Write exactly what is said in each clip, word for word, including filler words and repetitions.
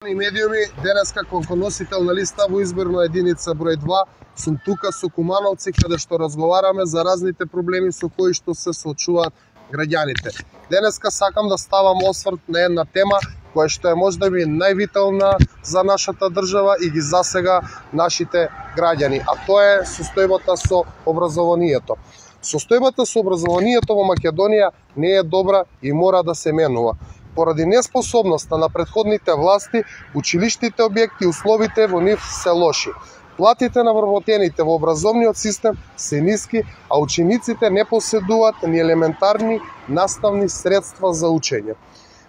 И медиуми, денеска како носител на листа во изборна единица број два, сум тука со Кумановци каде што разговараме за разните проблеми со кои што се соочуваат граѓаните. Денеска сакам да ставам осврт на една тема која што е можеби највитална за нашата држава и ги засега нашите граѓани, а тоа е состојбата со образованието. Состојбата со образованието во Македонија не е добра и мора да се менува. Поради неспособноста на претходните власти, училиштите објекти и условите во нив се лоши. Платите на вработените во образовниот систем се ниски, а учениците не поседуваат ни елементарни наставни средства за учење.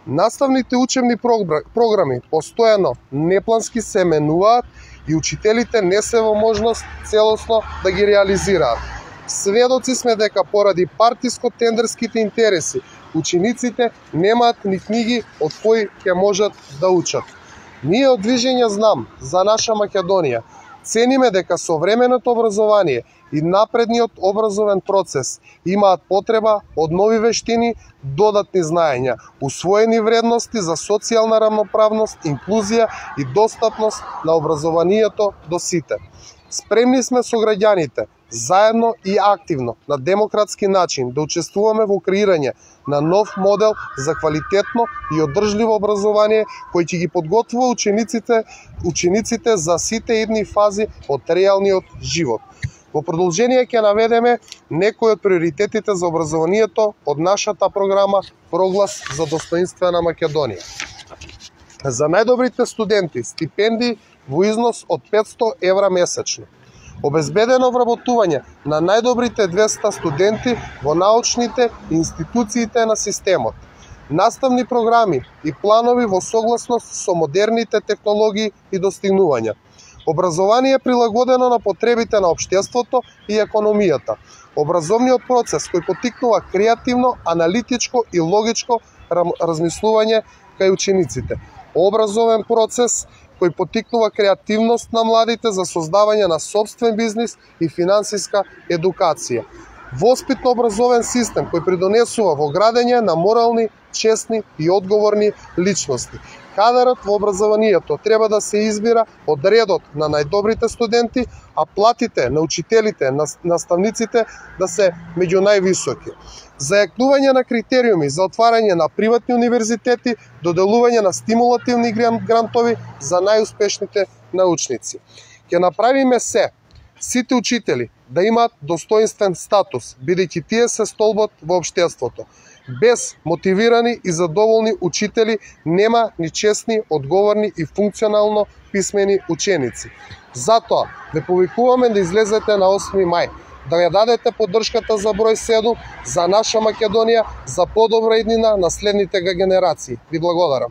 Наставните учебни програми постојано неплански се менуваат и учителите не се во можност целосно да ги реализираат. Сведоци сме дека поради партиско-тендерските интереси учениците немаат ни книги од кои ќе можат да учат. Ние од Движење Знам за наша Македонија цениме дека современото образование и напредниот образовен процес имаат потреба од нови вештини, додатни знаења, усвоени вредности за социјална рамноправност, инклузија и достапност на образованието до сите. Спремни сме со граѓаните, заедно и активно, на демократски начин, да учествуваме во креирање на нов модел за квалитетно и одржливо образование кој ќе ги подготвува учениците, учениците за сите идни фази од реалниот живот. Во продолжение ќе наведеме некои од приоритетите за образованието од нашата програма Проглас за достоинствена Македонија. За најдобрите студенти стипендии во износ од петсто евра месечно. Обезбедено вработување на најдобрите двеста студенти во научните институциите на системот. Наставни програми и планови во согласност со модерните технологии и достигнувања. Образование прилагодено на потребите на општеството и економијата. Образовниот процес кој поттикнува креативно, аналитичко и логичко размислување кај учениците. Образовен процес кој поттикнува креативност на младите за создавање на сопствен бизнис и финансиска едукација. Воспитно-образовен систем кој придонесува во градење на морални, честни и одговорни личности. Кадарот во образованието треба да се избира од редот на најдобрите студенти, а платите на учителите, на наставниците да се меѓу највисоки. Зајакнување на критериуми за отварање на приватни универзитети, доделување на стимулативни грантови за најуспешните научници. Ќе направиме се, сите учители да имаат достоинствен статус, бидејќи тие се столбот во општеството. Без мотивирани и задоволни учители нема ни честни, одговорни и функционално писмени ученици. Затоа ве повикуваме да излезете на осми мај, да ја дадете поддршката за број седум за наша Македонија, за подобра иднина на следните генерации. Ви благодарам.